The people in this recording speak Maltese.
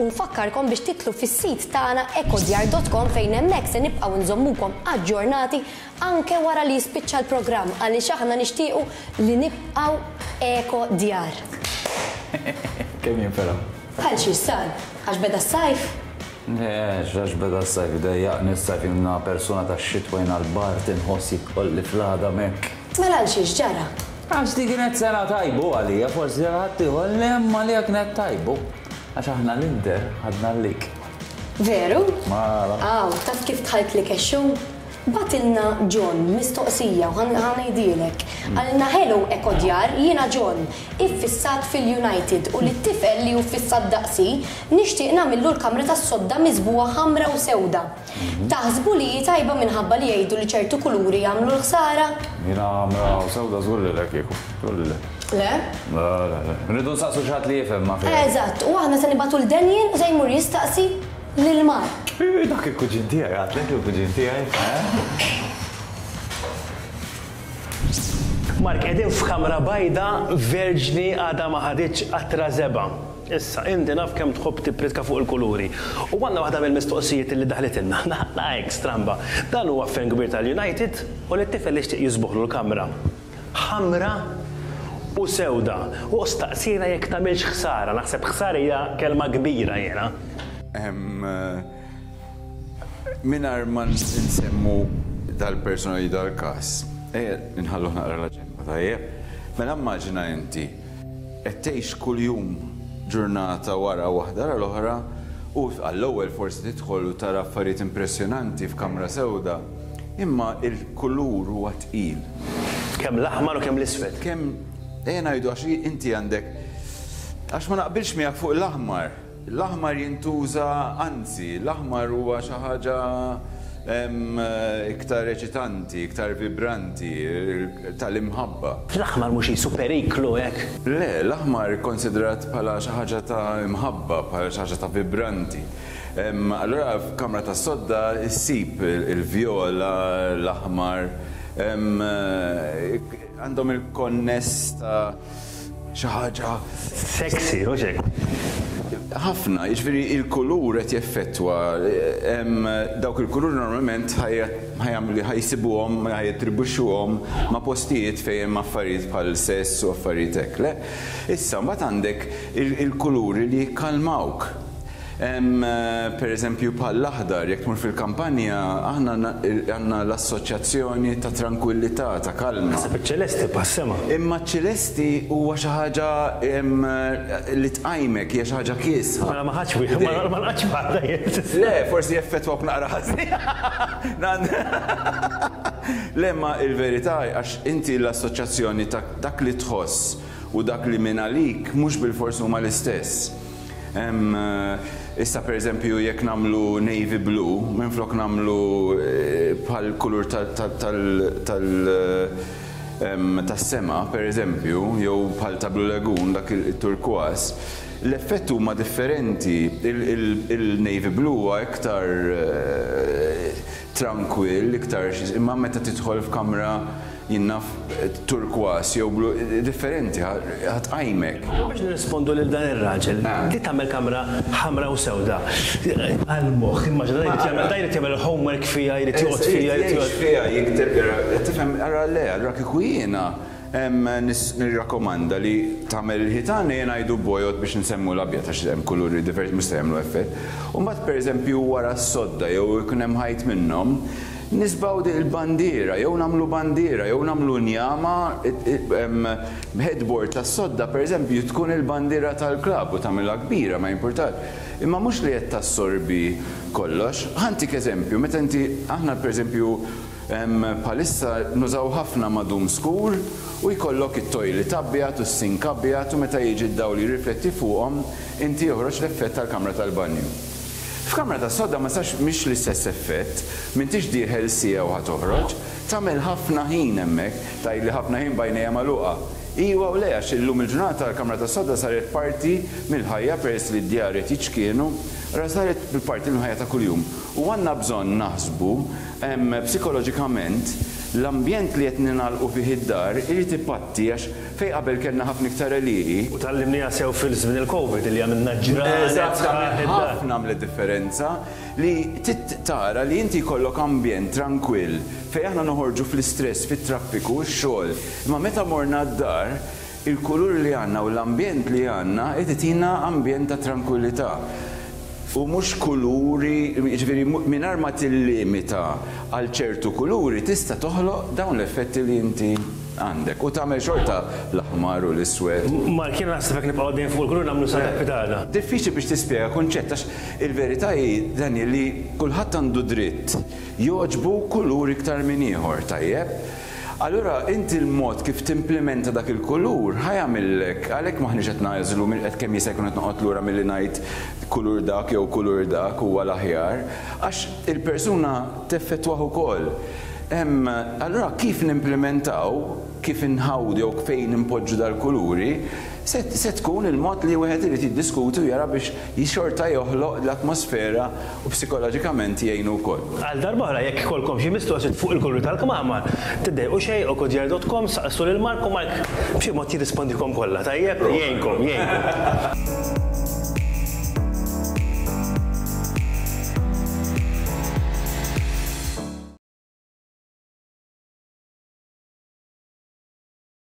U nfakkarkom biex tidħlu fis-sit tagħna ekodjar.com fejn hemmhekk se nibqgħu nżommukom aġġornati anke wara li jispiċċa l-programm għaliex aħna nixtiequ li nibqgħu Eko Djar. Kemm jien fergħan. Bħal xiex sar? Għax beda s-sajf? Le, għax beda s-sajf, idejjaqni s-sajf, jiena persuna tax-xitwa jiena l-bard inħoss jidħolli fl-għadam hekk. Mela għal xiex ġara? Għax di kienet sena tajbu għalija, forsi għal ħaddieħor le imma għalija kienet tajbu. Għax aħna l-Inter ħadna l-lig. Veru? Mela. Aw, taf kif dħalt li kexxu? Bagħtilna John mistoqsija u ħa ngħidhielek. Qalilna hello Ekodjar, jiena John, iffissat fil-United u lit-tifel li hu ffissat daqsi, nixtieq nagħmillu l-kamra tas-sodda miżbugħa ħamra u sewda. Taħsbu li hi tajba minħabba li jgħidu li ċertu kuluri jagħmlu l-ħsara? Jiena ħamra u sewda żgur li le kieku. Żgur li le. Le? Le, le, le. Irridu nsaqsu xi ħadd li jifhem ma fiha. Eżatt, u aħna se nibagħtu 'l Daniel u se jmur jistaqsi lil Mark. Ih, dak il-kuġin tiegħi, għadlek il-kuġin tiegħi, eh? Mark, qegħdin f'kamra bajda verġni għadha ma ħaditx qatra żebgħa. Issa, inti naf kemm tħobb tippriedka fuq il-kuluri. U għandna waħda mill-mistoqsijiet li daħlitilna. Naqra hekk stramba. Dan huwa fan kbir tal-United u lit-tifel jixtieq jiżboħlu l-kamra. Ħamra u sewda. U staqsiena jekk tagħmilx ħsara. Naħseb ħsara hija kelma kbira jiena. Mingħajr ma nsemmu dal-persuna li dal-każ, ejja nħalluh naqra la ġenba, tajjeb? Mela immaġina inti qed tgħix kuljum ġurnata wara waħda wara l-oħra u għall-ewwel forsi tidħol u tara affarijiet impressjonanti f'kamra sewda, imma l-kulur huwa tqil. Kemm l-aħmar u kemm l-iswed. Kemm, ejja ngħidu għax inti għandek, għax ma naqbilx miegħek fuq l-aħmar. L-aħmar jintuża, anzi, l-aħmar huwa xi ħaġa iktar eċitanti, iktar vibranti, tal-imħabba. L-aħmar mhux qisu periklu hekk? Le, l-aħmar ikkonsidrat bħala xi ħaġa ta' imħabba, bħala xi ħaġa ta' vibranti. Allura f'kamra tas-sodda ssib il-vjola, l-aħmar, għandhom il-konness ta' xi ħaġa. Sexy, hux hekk? Ħafna, jiġifieri il-kulur qed jeffettwa dawk il-kuluri normalment ħa jsibuhom, ħa jattribwixxuhom ma' postijiet fejn hemm affarijiet bħal sess u affarijiet hekk, le? Issa mbagħad għandek il-kuluri li jikkalmawk. Per eżempju bħall-aħdar, jekk tmur fil-kampanja, aħna għandna l-assoċjazzjoni ta' trankwillità, ta' kalma. Naħseb iċ-ċelesti bħas-sema. Imma ċ-ċelesti huwa xi ħaġa li tqajmek, hija xi ħaġa kiesħa. Mela ma ħadx wieħed, ma laqatx waħda jien s'issa. Le, forsi jeffettwawk naqra ħażin. Le, imma il-verità għax inti l-assoċjazzjoni ta' dak li tħoss u dak li mingħalik mhux bilfors huma l-istess. Issa pereżempju jekk nagħmlu navy blue minflok nagħmlu bħal kulur tas-sema pereżempju jew bħal ta' Blue Lagoon dak it-turkważ, l-effett huma differenti. Il-navy blue huwa iktar trankwill, iktar imma meta tidħol f'kamra Jien naf turkważ jew blu differenti ħa tqajmek. U biex nirrispondu lil dan ir-raġel, li tagħmel kamra ħamra u sewda għall-moħħ, immaġina dan irid jagħmel dan irid jagħmel il-homework fiha, jrid joqgħod fiha, jrid joqgħod. Fiha, jikteb, jara, tifhem, ara le, allura kieku jiena nirrakkomanda li tagħmel il-ħitan ejja ngħidu bojod biex nsemmu l-abjad għax hemm kuluri diversi mhux se jagħmlu effett. U mbagħad pereżempju wara s-sodda jew ikun hemm ħajt minnhom, Nisbgħu il-bandiera jew nagħmlu bandiera jew nagħmlu njama headboard tas-sodda pereżempju tkun il-bandiera tal-klabb u tagħmilha kbira ma jimpurtax. Imma mhux li qed tassorbi kollox. Ħa ntik eżempju, meta inti aħna pereżempju bħalissa nużaw ħafna madum skur u jkollok it-toilet abjad u s-sink abjad u meta jiġi d-dawl jirrifletti fuqhom inti joħroġ l-effett tal-kamra tal-banju. F'kamra tas-sodda ma tistax mhix l-istess effett, m'intix dieħel siegħa u ħa toħroġ, tagħmel ħafna ħin hemmhekk, tgħidli ħafna ħin b'għajnejja magħluqa. Iwa u le għax illum il-ġurnata l-kamra tas-sodda saret parti mill-ħajja peress li d-djar qed jiċkienu, allura saret parti mill-ħajja ta' kuljum u għandna bżonn naħsbu psikoloġikament. L-ambjent li qed ningħalqu fih id-dar irid ipatti għax fejn qabel kellna ħafna iktar għelieqi. U tgħallimniha sew fil-żmien il-Covid li għamilna ġranet sħaħ id-dar. Ħafna għamlet differenza li tara li inti jkollok ambjent trankwill fejn aħna noħorġu fl-istress, fit-traffiku, ix-xogħol. Imma meta morna d-dar, il-kulur li għandna u l-ambjent li għandna qed itina ambjent ta' trankwillità. U mhux kuluri, jiġifieri mingħajr ma tillimita għal ċertu kuluri tista' toħloq dawn l-effetti li inti għandek. U tagħmel xorta l-aħmar u l-iswed. Mark, jiena naħseb jekk nibqgħu għaddejjin fuq il-kulur nagħmlu sa pitgħada. Diffiċli biex tispjega kunċett għax il-verità hi, Daniel, li kulħadd għandu dritt jogħġbu kulur iktar minn ieħor, tajjeb? Allura inti l-mod kif timplimenta dak il-kulur ħa jagħmillek, għalhekk m'aħniex qed nagħżlu minn qed kemm jista' jkun qed noqgħod lura milli ngħid kulur dak jew kulur dak huwa l-aħjar, għax il-persuna teffettwah ukoll. Allura kif nimplimentaw, kif inħawdu jew fejn inpoġġu dal-kuluri, se se tkun il-mod li wieħed irid jiddiskuti u jara biex xorta joħloq l-atmosfera u psikoloġikament jgħinu wkoll. Għal darb'oħra jekk ikollkom xi mistoqsijiet fuq il-kuluri tal-kmamar, tiddejqu xejn, okodiar.com, saqsu lil Mark u Mark b'xi mod jirrispondikom kollha, tajjeb? Jgħinkom, jgħinkom.